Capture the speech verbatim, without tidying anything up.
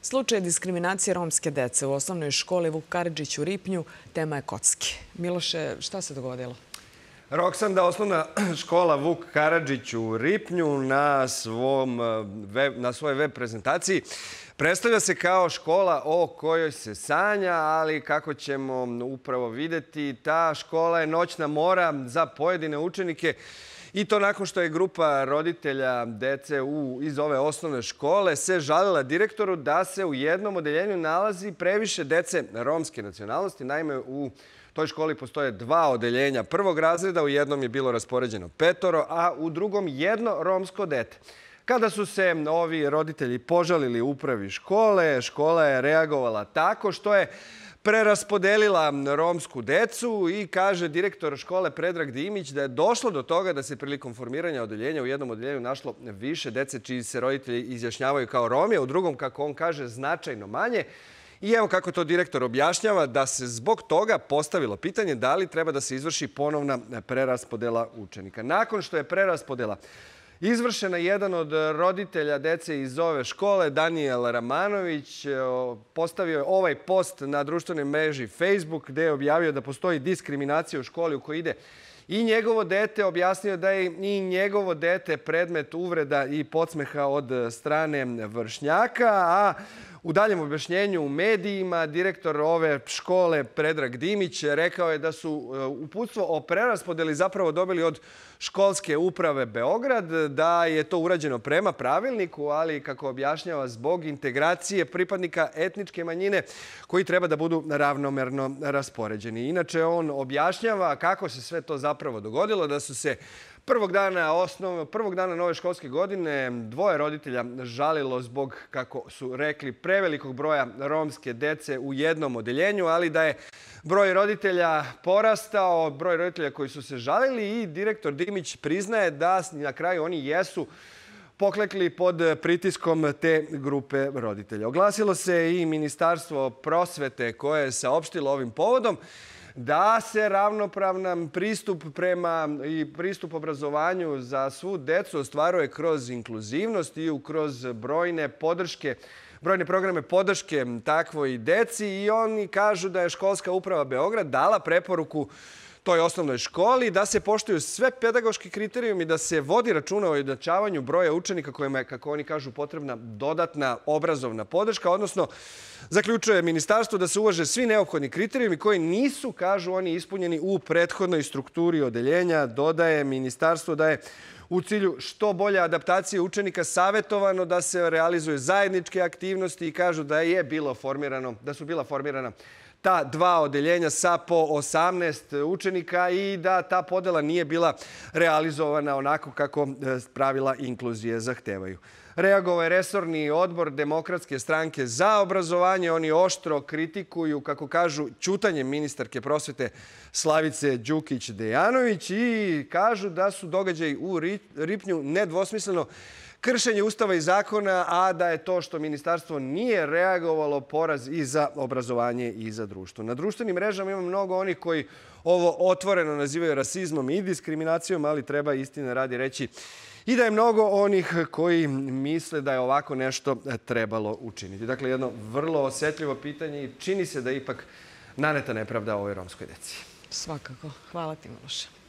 Slučaj diskriminacije romske dece u osnovnoj školi Vuk Karadžić u Ripnju tema je kocki. Miloše, šta se dogodilo? Roksanda, osnovna škola Vuk Karadžić u Ripnju na, svom web, na svojoj web prezentaciji predstavlja se kao škola o kojoj se sanja, ali kako ćemo upravo vidjeti, ta škola je noćna mora za pojedine učenike. I to nakon što je grupa roditelja dece u, iz ove osnovne škole se žalila direktoru da se u jednom odeljenju nalazi previše dece romske nacionalnosti. Naime, u toj školi postoje dva odeljenja prvog razreda, u jednom je bilo raspoređeno petoro, a u drugom jedno romsko dete. Kada su se ovi roditelji požalili upravi škole, škola je reagovala tako što je preraspodelila romsku decu i kaže direktor škole Predrag Dimić da je došlo do toga da se prilikom formiranja odeljenja u jednom odeljenju našlo više dece čiji se roditelji izjašnjavaju kao Romi, a u drugom, kako on kaže, značajno manje. I evo kako to direktor objašnjava, da se zbog toga postavilo pitanje da li treba da se izvrši ponovna preraspodela učenika. Nakon što je preraspodela izvršena, jedan od roditelja dece iz ove škole, Danijel Ramanović, postavio je ovaj post na društvenoj mreži Facebook gdje je objavio da postoji diskriminacija u školi u kojoj ide i njegovo dete. Objasnio da je i njegovo dete predmet uvreda i podsmeha od strane vršnjaka, a u daljem objašnjenju u medijima direktor ove škole Predrag Dimić rekao je da su uputstvo o preraspodeli zapravo dobili od školske uprave Beograd, da je to urađeno prema pravilniku, ali kako objašnjava zbog integracije pripadnika etničke manjine koji treba da budu ravnomerno raspoređeni. Inače, on objašnjava kako se sve to zapravo dogodilo, da su se Prvog dana, osnov, prvog dana nove školske godine dvoje roditelja žalilo zbog, kako su rekli, prevelikog broja romske dece u jednom odeljenju, ali da je broj roditelja porastao, broj roditelja koji su se žalili, i direktor Dimić priznaje da na kraju oni jesu poklekli pod pritiskom te grupe roditelja. Oglasilo se i Ministarstvo prosvete koje je saopštilo ovim povodom da se ravnopravan pristup prema i pristup obrazovanju za svu decu ostvaruje kroz inkluzivnost i kroz brojne podrške, brojne programe podrške takvoj deci, i oni kažu da je školska uprava Beograd dala preporuku toj osnovnoj školi da se poštuju sve pedagoški kriterijumi, da se vodi računa o ujednačavanju broja učenika kojima je, kako oni kažu, potrebna dodatna obrazovna podrška, odnosno zaključuje ministarstvo da se uvaže svi neophodni kriterijumi koji nisu, kažu oni, ispunjeni u prethodnoj strukturi odeljenja. Dodaje ministarstvo da je u cilju što bolje adaptacije učenika savjetovano da se realizuju zajedničke aktivnosti, i kažu da je bilo formirano, da su bila formirana ta dva odeljenja sa po osamnaest učenika i da ta podela nije bila realizovana onako kako pravila inkluzije zahtevaju. Reagovao je resorni odbor Demokratske stranke za obrazovanje. Oni oštro kritikuju, kako kažu, ćutanjem ministarke prosvete Slavice Đukić-Dejanović i kažu da su događaji u Ripnju nedvosmisleno kršenje Ustava i zakona, a da je to što ministarstvo nije reagovalo poraz i za obrazovanje i za društvo. Na društvenim mrežama ima mnogo onih koji ovo otvoreno nazivaju rasizmom i diskriminacijom, ali treba istine radi reći i da je mnogo onih koji misle da je ovako nešto trebalo učiniti. Dakle, jedno vrlo osjetljivo pitanje i čini se da je ipak naneta nepravda ovoj romskoj deci. Svakako. Hvala ti, Miloše.